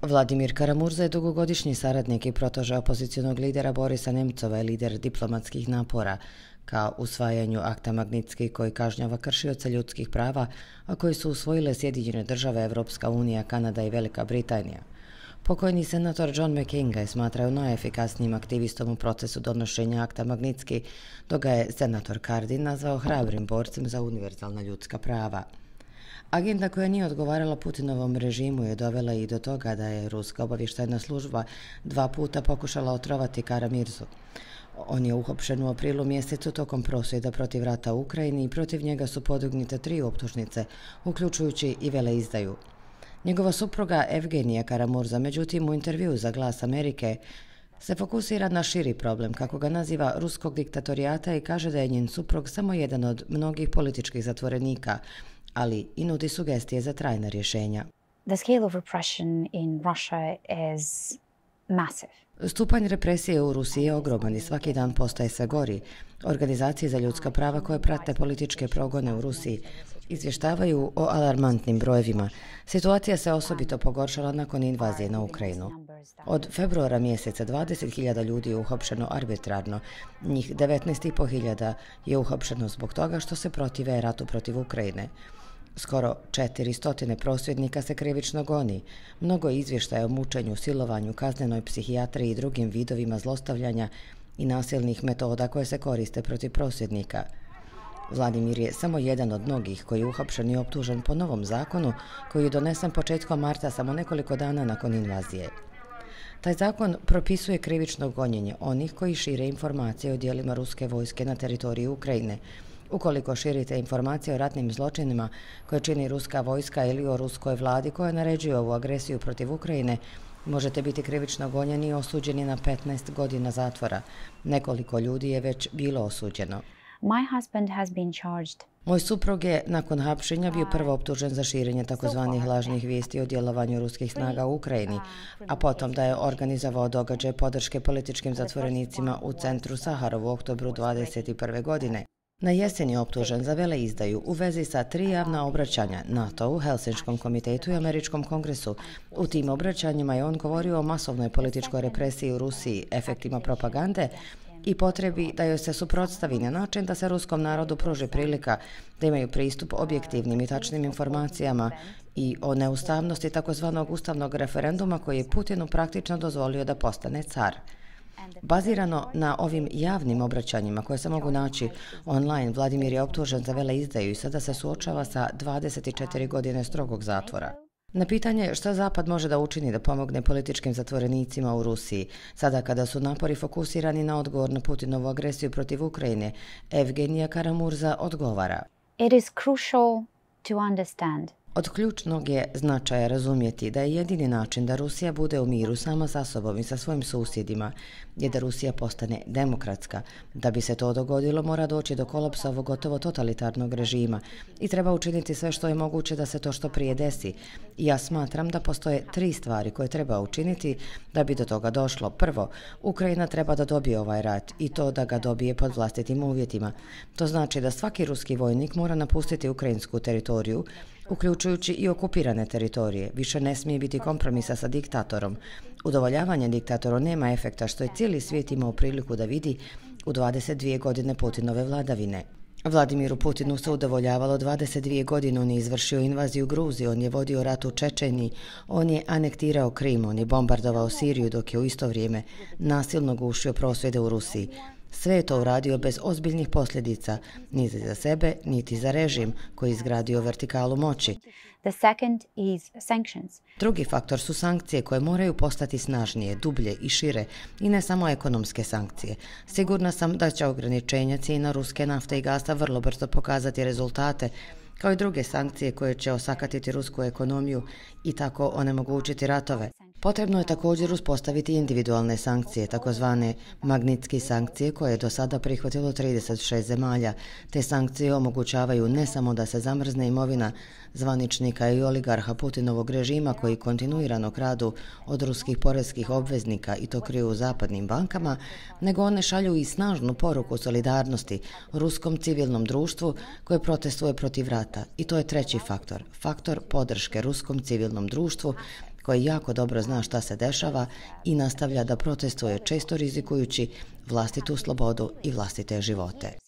Vladimir Kara-Murza je dugogodišnji saradnik i protože opozicionog lidera Borisa Nemcova i lider diplomatskih napora ka usvajanju akta Magnitski koji kažnjava kršioce ljudskih prava, a koji su usvojile Sjedinjene države, Evropska unija, Kanada i Velika Britanija. Pokojni senator John McCain ga je smatrao najefikasnijim aktivistom u procesu donošenja akta Magnitski, dok ga je senator Cardin nazvao hrabrim borcem za univerzalna ljudska prava. Agenda koja nije odgovarala Putinovom režimu je dovela i do toga da je ruska obavještajna služba 2 puta pokušala otrovati Kara-Mirzu. On je uhapšen u aprilu mjesecu tokom prosvjeda protiv rata u Ukrajini i protiv njega su podignute 3 optužnice, uključujući i veleizdaju. Njegova supruga Evgenija Kara-Murza, međutim, u intervjuu za Glas Amerike se fokusira na širi problem, kako ga naziva, ruskog diktatorijata i kaže da je njen suprug samo jedan od mnogih političkih zatvorenika, ali i nudi sugestije za trajna rješenja. The scale of repression in Russia is massive. Stupanj represije u Rusiji je ogroman i svaki dan postaje sve gori. Organizacije za ljudska prava koje prate političke progone u Rusiji izvještavaju o alarmantnim brojevima. Situacija se osobito pogoršala nakon invazije na Ukrajinu. Od februara mjeseca 20.000 ljudi je uhapšeno arbitrarno, njih 19.500 je uhapšeno zbog toga što se protive ratu protiv Ukrajine. Skoro 400 prosvjednika se krivično goni. Mnogo je izvještaja o mučenju, silovanju, kaznenoj psihijatriji i drugim vidovima zlostavljanja i nasilnih metoda koje se koriste protiv prosvjednika. Vladimir je samo jedan od mnogih koji je uhapšen i optužen po novom zakonu koji je donesen početkom marta, samo nekoliko dana nakon invazije. Taj zakon propisuje krivično gonjenje onih koji šire informacije o dijelima ruske vojske na teritoriji Ukrajine. Ukoliko širite informacije o ratnim zločinima koje čini ruska vojska ili o ruskoj vladi koja naređuje ovu agresiju protiv Ukrajine, možete biti krivično gonjeni i osuđeni na 15 godina zatvora. Nekoliko ljudi je već bilo osuđeno. My husband has been charged. Moj suprug je nakon hapšenja bio prvo optužen za širenje takozvanih lažnih vijesti o djelovanju ruskih snaga u Ukrajini, a potom da je organizovao događaj podrške političkim zatvorenicima u centru Saharov u oktobru 2021. godine. Na jesen je optužen za veleizdaju u vezi sa 3 javna obraćanja NATO-u, Helsinškom komitetu i Američkom kongresu. U tim obraćanjima je on govorio o masovnoj političkoj represiji u Rusiji, efektima propagande i potrebi da joj se suprotstavi na način da se ruskom narodu pruži prilika da imaju pristup objektivnim i tačnim informacijama i o neustavnosti takozvanog ustavnog referenduma koji je Putinu praktično dozvolio da postane car. Bazirano na ovim javnim obraćanjima koje se mogu naći online, Vladimir je optužen za veleizdaju i sada se suočava sa 24 godine strogog zatvora. Na pitanje šta Zapad može da učini da pomogne političkim zatvorenicima u Rusiji, sada kada su napori fokusirani na odgovor na Putinovu agresiju protiv Ukrajine, Evgenija Kara-Murza odgovara. It is crucial to understand. Od ključnog je značaja razumjeti da je jedini način da Rusija bude u miru sama sa sobom i sa svojim susjedima je da Rusija postane demokratska. Da bi se to dogodilo, mora doći do kolapsa ovog gotovo totalitarnog režima i treba učiniti sve što je moguće da se to što prije desi. I ja smatram da postoje 3 stvari koje treba učiniti da bi do toga došlo. Prvo, Ukrajina treba da dobije ovaj rat i to da ga dobije pod vlastitim uvjetima. To znači da svaki ruski vojnik mora napustiti ukrajinsku teritoriju, uključujući i okupirane teritorije. Više ne smije biti kompromisa sa diktatorom. Udovoljavanje diktatoru nema efekta, što je cijeli svijet imao priliku da vidi u 22 godine Putinove vladavine. Vladimiru Putinu se udovoljavalo 22 godine, on je izvršio invaziju Gruzije, on je vodio rat u Čečeniji, on je anektirao Krim, on je bombardovao Siriju dok je u isto vrijeme nasilno gušio prosvjede u Rusiji. Sve je to uradio bez ozbiljnih posljedica, niti za sebe, niti za režim koji je izgradio vertikalu moći. The second is sanctions. Drugi faktor su sankcije koje moraju postati snažnije, dublje i šire i ne samo ekonomske sankcije. Sigurna sam da će ograničenja cijena ruske nafte i gasa vrlo brzo pokazati rezultate, kao i druge sankcije koje će osakatiti rusku ekonomiju i tako onemogućiti ratove. Potrebno je također uspostaviti individualne sankcije, takozvane Magnitski sankcije koje je do sada prihvatilo 36 zemalja. Te sankcije omogućavaju ne samo da se zamrzne imovina zvaničnika i oligarha Putinovog režima koji kontinuirano kradu od ruskih poreskih obveznika i to kriju u zapadnim bankama, nego one šalju i snažnu poruku solidarnosti ruskom civilnom društvu koje protestuje protiv rata. I to je treći faktor, faktor podrške ruskom civilnom društvu koji jako dobro zna šta se dešava i nastavlja da protestuje, često rizikujući vlastitu slobodu i vlastite živote.